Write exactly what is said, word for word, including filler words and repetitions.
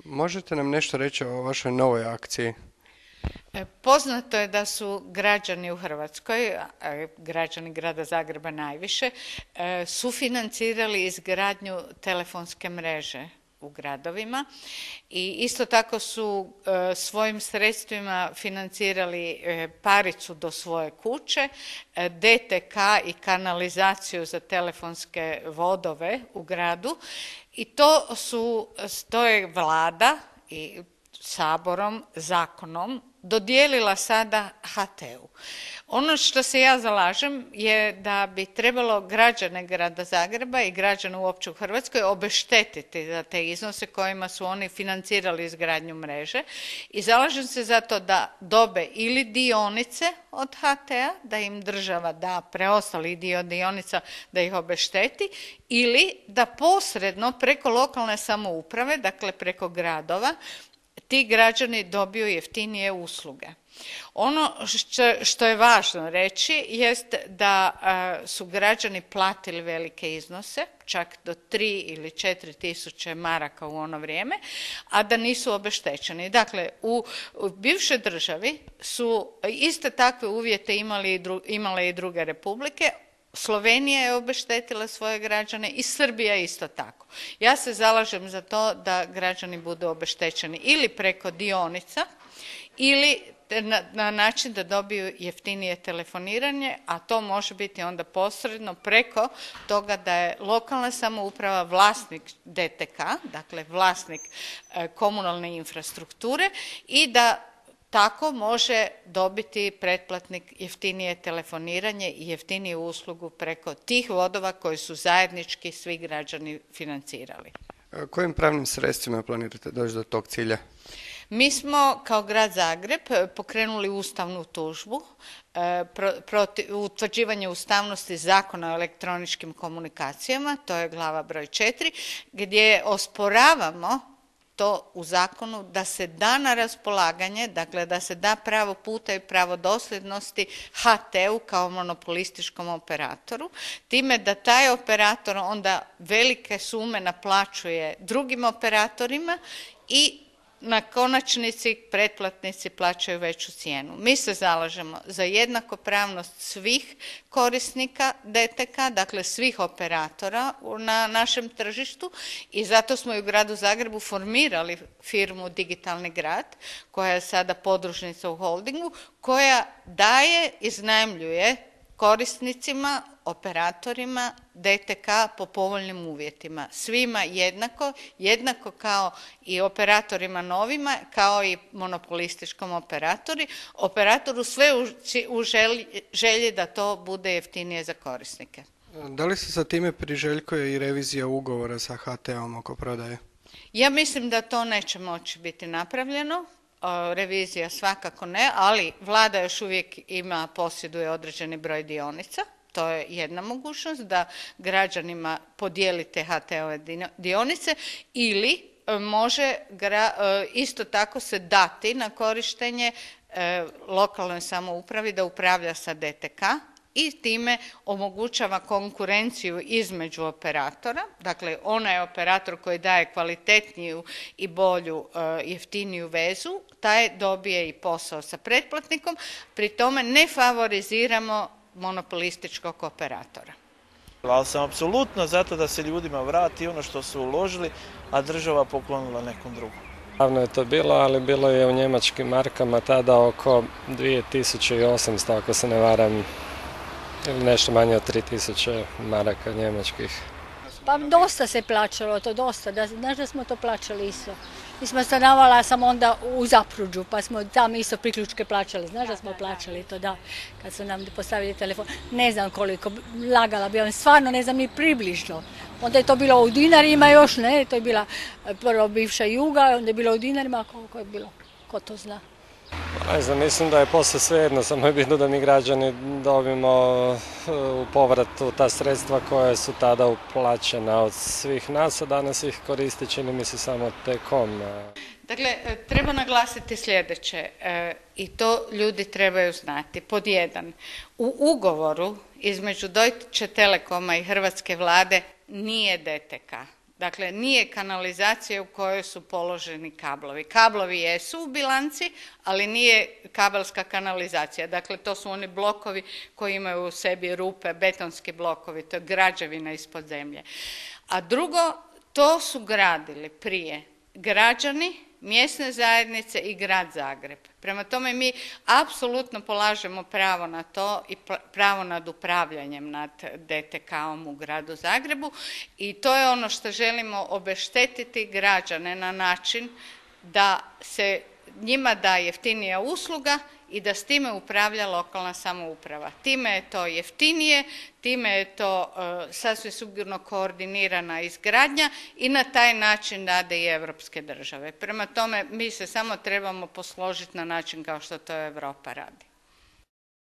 Možete nam nešto reći o vašoj novoj akciji? Poznato je da su građani u Hrvatskoj, građani grada Zagreba najviše, sufinancirali izgradnju telefonske mreže u gradovima i isto tako su svojim sredstvima financirali paricu do svoje kuće, D T K i kanalizaciju za telefonske vodove u gradu i to su, to je vlada i Saborom, zakonom dodijelila sada H T U. Ono što se ja zalažem je da bi trebalo građane grada Zagreba i građane uopće u Hrvatskoj obeštetiti za te iznose kojima su oni financirali izgradnju mreže i zalažem se za to da dobe ili dionice od H T-a, da im država da preostali dio dionica da ih obešteti ili da posredno preko lokalne samouprave, dakle preko gradova, ti građani dobiju jeftinije usluge. Ono što je važno reći jest da su građani platili velike iznose, čak do tri ili četiri tisuće maraka u ono vrijeme, a da nisu obeštećeni. Dakle, u bivšoj državi su iste takve uvjete imali, imale i druge republike. Slovenija je obeštetila svoje građane i Srbija isto tako. Ja se zalažem za to da građani budu obeštećeni ili preko dionica ili na, na način da dobiju jeftinije telefoniranje, a to može biti onda posredno preko toga da je lokalna samouprava vlasnik D T K, dakle vlasnik e, komunalne infrastrukture i da tako može dobiti pretplatnik jeftinije telefoniranje i jeftiniju uslugu preko tih vodova koji su zajednički svi građani financirali. Kojim pravnim sredstvima planirate doći do tog cilja? Mi smo kao grad Zagreb pokrenuli ustavnu tužbu protiv utvrđivanja ustavnosti Zakona o elektroničkim komunikacijama, to je glava broj četiri, gdje osporavamo to u zakonu da se da na raspolaganje, dakle da se da pravo puta i pravo dosljednosti H T-u kao monopolističkom operatoru, time da taj operator onda velike sume naplaćuje drugim operatorima i na konačnici pretplatnici plaćaju veću cijenu. Mi se zalažemo za jednakopravnost svih korisnika D T K, dakle svih operatora na našem tržištu i zato smo i u gradu Zagrebu formirali firmu Digitalni grad, koja je sada podružnica u holdingu, koja daje, iznajmljuje korisnicima, operatorima D T K po povoljnim uvjetima. Svima jednako, jednako kao i operatorima novima, kao i monopolističkom operatori. Operatoru sve u, u želji, želji da to bude jeftinije za korisnike. Da li se sa time priželjkuje i revizija ugovora sa H T-om oko prodaje? Ja mislim da to neće moći biti napravljeno. Revizija svakako ne, ali vlada još uvijek ima, posjeduje određeni broj dionica. To je jedna mogućnost da građanima podijelite H T-ove dionice ili može isto tako se dati na korištenje lokalnoj samoupravi da upravlja sa D T K i time omogućava konkurenciju između operatora. Dakle, onaj operator koji daje kvalitetniju i bolju, jeftiniju vezu, taj dobije i posao sa pretplatnikom. Pri tome ne favoriziramo monopolističkog operatora. Ali sam apsolutno zato da se ljudima vrati ono što su uložili, a država poklonila nekom drugom. Davno je to bilo, ali bilo je u njemačkim markama tada oko dvije tisuće osamsto, ako se ne varam, ili nešto manje od tri tisuće maraka njemačkih. Pa dosta se plaćalo to, dosta. Da, znaš da smo to plaćali isto. Mi smo stanovala sam onda u Zapruđu, pa smo tam isto priključke plaćali. Znaš da smo plaćali to, da, kad su nam postavili telefon. Ne znam koliko, lagala bi vam, stvarno ne znam ni približno. Onda je to bilo u dinarima još, ne, to je bila prvo bivša Juga, onda je bilo u dinarima, koliko je bilo, ko to zna. Ne znam, mislim da je posle svejedno, samo je bitno da mi građani dobijemo u povratu ta sredstva koja su tada uplaćena od svih nas, a danas ih koristi, čini mi se, samo T-com. Dakle, treba naglasiti sljedeće i to ljudi trebaju znati. Pod jedan, u ugovoru između Deutsche Telekoma i Hrvatske vlade nije D T K. Dakle, nije kanalizacija u kojoj su položeni kablovi. Kablovi jesu u bilanci, ali nije kabelska kanalizacija. Dakle, to su oni blokovi koji imaju u sebi rupe, betonski blokovi, to je građevina ispod zemlje. A drugo, to su gradili prije građani, mjesne zajednice i grad Zagreb. Prema tome mi apsolutno polažemo pravo na to i pravo nad upravljanjem nad D T K-om u gradu Zagrebu i to je ono što želimo obeštetiti građane na način da se njima da jeftinija usluga i da s time upravlja lokalna samouprava. Time je to jeftinije, time je to uh, sasvim sigurno koordinirana izgradnja i na taj način rade i europske države. Prema tome, mi se samo trebamo posložiti na način kao što to Europa radi.